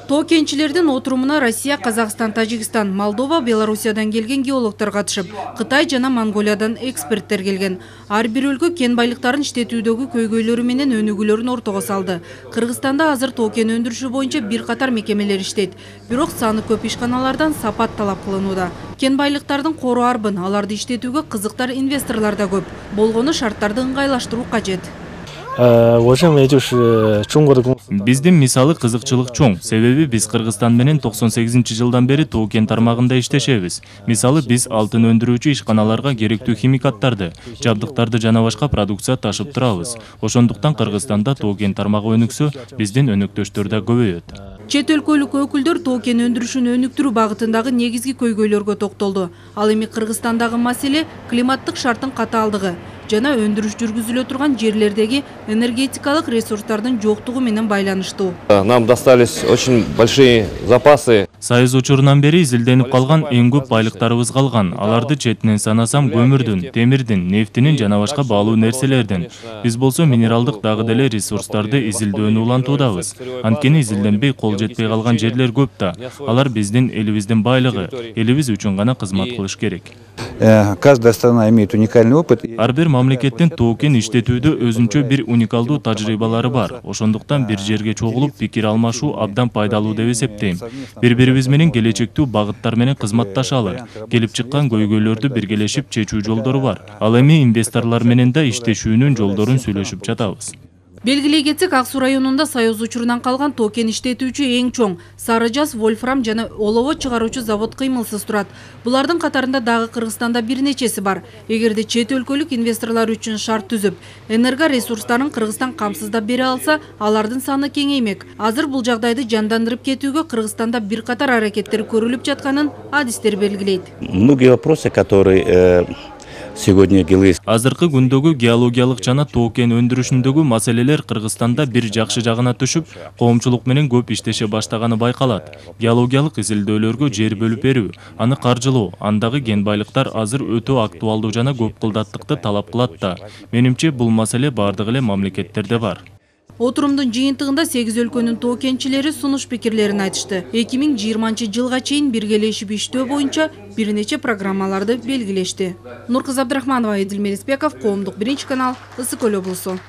Тоо кенчилердин отурумуна Россия, Казакстан, Тажикстан, Молдова, Белоруссиядан келген геологтор катышып, Кытай жана Монголиядан эксперттер келген. Ар бир өлкө кен байлыктарын иштетүүдөгү көйгөйлөрү менен өнүгүүлөрүн ортого салды. Кыргызстанда азыр тоо кен өндүрүшү боюнча бир катар мекемелер иштейт. Бирок саны көп ишканалардан сапат талап кылынууда. Кен байлыктардын кору арбын, аларды иштетүүгө кызыктар инвесторлор да көп. Болгону шарттарды ыңгайлаштыруу кажет. Биздин мисалы кызыкчылык чоң. Себеби биз Кыргызстан менен 98-жылдан бери тоо кен тармагында иштешебиз. Мисалы биз алтын өндүрүүчү ишканаларга керектүү химикаттарды, жабдыктарды жана башка продукция ташып турабыз. Ошондуктан Кыргызстанда тоо кен тармагы өнүксө, биздин өнөктөштөр да көбөйөт. Чет өлкөлүк өкүлдөр тоо кен өндүрүшүн өнүктүрүү багытындагы негизги көйгөйлөргө токтолду. Ал эми Кыргызстандагы маселе климаттык шарттын катаалдыгы жана өндүрүш жүргүзүлө турган жерлердеги энергетикалык ресурстардын жоктугу менен байланыштуу. Нам достались очень большие запасы. Союз учурунан бери изилденип калган эң көп байлыктарыбыз калган. Аларды четинен санасам көмүрдүн, темирдин, нефтинин жана башка баалуу нерселердин. Биз болсо минералдык дагы деле ресурстарды изилдөөнү улантуудабыз. Анткени изилденбей кол жетпей калган жерлер көп да. Алар биздин элибиздин байлыгы. Элибиз үчүн гана кызмат кылыш керек. Каждая страна имеет уникальный опыт. Ар бир мамлекеттин тоо кен иштетүүдө өзүнчө бир уникалдуу тажрыйбалары бар. Ошондуктан бир жерге чогулуп пикир алмашуу абдан пайдалуу деп эсептейм. Бири-бирибиз менен келечектүү багыттар менен кызматташалы. Келип чыккан көйгөйлөрдү биргелешип чечүү жолдору бар. Ал эми инвесторлор менен да иштешүүнүн жолдорун сүйлөшүп жатабыз. Белгилей кетсек, Ак Суу районунда Союз учурунан калган тоо кен иштетүүчү эң чоң Сары Жаз, Вольфрам жана олово чыгаруучу завод кыймылсыз турат. Булардын катарында дагы Кыргызстанда бир нечеси бар. Эгерде чет өлкөлүк инвесторлор үчүн шарт түзүп, энерго ресурстарын Кыргызстан камсыздап бере алса, алардын саны кеңеймек. Азыр бул жагдайды жандандырып кетүүгө Кыргызстанда бир катар аракеттер көрүлүп жатканын адистер белгилейт. Многие вопросы, которые Азыркы күндөгү геологиялык жана тоо кен өндүрүшүндөгү маселелер Кыргызстанда бир жакшы жагына түшүп, коомчулук менен көп иштеше баштаганы байкалат. Геологиялык изилдөөлөргө жер бөлүп берүү, аны каржылоо, андагы кен байлыктар азыр өтө актуалдуу жана көп кылдаттыкты талап кылат да. Менимче бул маселе бардык эле мамлекеттерде бар. Отурумдун жыйынтыгында 8 өлкөнүн тоо кенчилери сунуш пикирлерин айтышты. 2020-жылга чейин биргелешип иштөө боюнча бир нече программаларды белгилешти. Нуркызы Абдрахманова, Эдил Мерисбеков, Коомдук 1 канал, Ысык Көл облусу.